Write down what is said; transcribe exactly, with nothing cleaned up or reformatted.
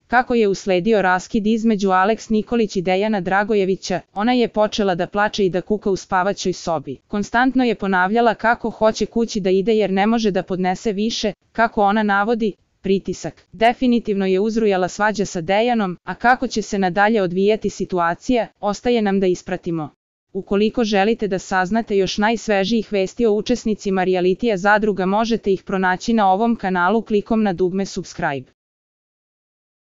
Kako je usledio raskid između Aleks Nikolić i Dejana Dragojevića, ona je počela da plače i da kuka u spavaćoj sobi. Konstantno je ponavljala kako hoće kući da ide jer ne može da podnese više, kako ona navodi, pritisak. Definitivno je uzrujala svađa sa Dejanom, a kako će se nadalje odvijati situacija, ostaje nam da ispratimo. Ukoliko želite da saznate još najsvežijih vesti o učesnicima realitija Zadruga, možete ih pronaći na ovom kanalu klikom na dugme subscribe.